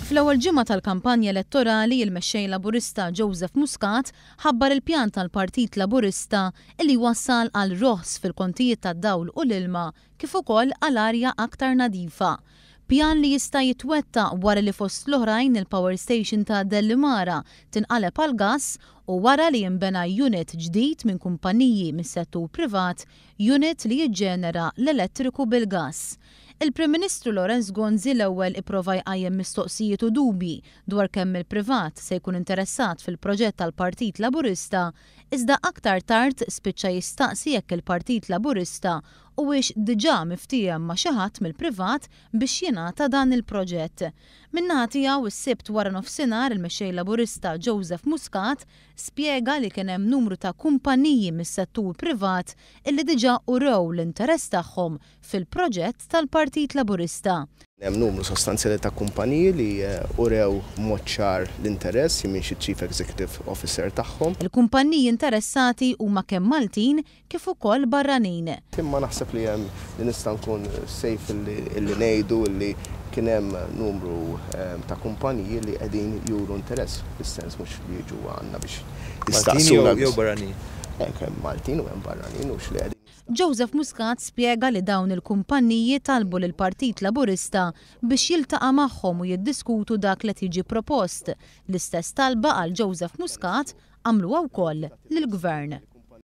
Fl-ewwel ġimgħa tal-kampanja elettorali, il-Mexxej Laburista Joseph Muscat ħabbar il-pjan tal-Partit Laburista li jwassal għal roħs fil-kontijiet tad-dawl u l-ilma kif ukoll għal arja aktar nadifa. Pjan li jista' jitwettaq wara li fost l-oħrajn il-power station ta' Dellimara tinqaleb għall-gass u wara li jinbena unit ġdid minn kumpaniji mis-settur privat, unit li jiġġenera l-elettriku bil-gass. Il-Prim Ministru Lawrence Gonzi l-ewwel ipprova jqajjem mistoqsijiet u dubji dwar kemm il-privat se jkun interessat fil-proġett tal-Partit Laburista iżda aktar tard spiċċa jistaqsi jekk il-Partit Laburista huwiex diġà miftiehem ma' xi ħadd mill-privat biex jingħata dan il-proġett. Min-naħa tiegħu s-Sibt waranofsinhar il-Mexxej Laburista Joseph Muscat spjega li kien hemm numru ta' kumpaniji mis-settur privat illi diġà urew l-interess tagħhom fil-proġett tal-Partit Laburista. Hemm numru sostanzjali ta' kumpaniji li urew b'mod ċar l'interess, jien m'iniex iċ-Chief Executive Officer tagħhom. Il-kumpaniji interessati huma kemm Maltin kif ukoll barranin. Imma naħseb li hemm li nista' nkun safe illi ngħidu illi kien hemm numru ta' kumpaniji li qegħdin juru interess, fis-sens mhux li jiġu għandna biex jistaqsuna. Maltin jew barranin? Hemm Maltin u hemm barranin u x'li qegħdin. Joseph Muscat spjega li dawn il-kumpanniji talbu lill-Partit Laburista biex jiltaqa' magħhom u jiddiskutu dak li qed jiġi propost. L-istess talba għal Joseph Muscat għamluha wkoll lill-Gvern.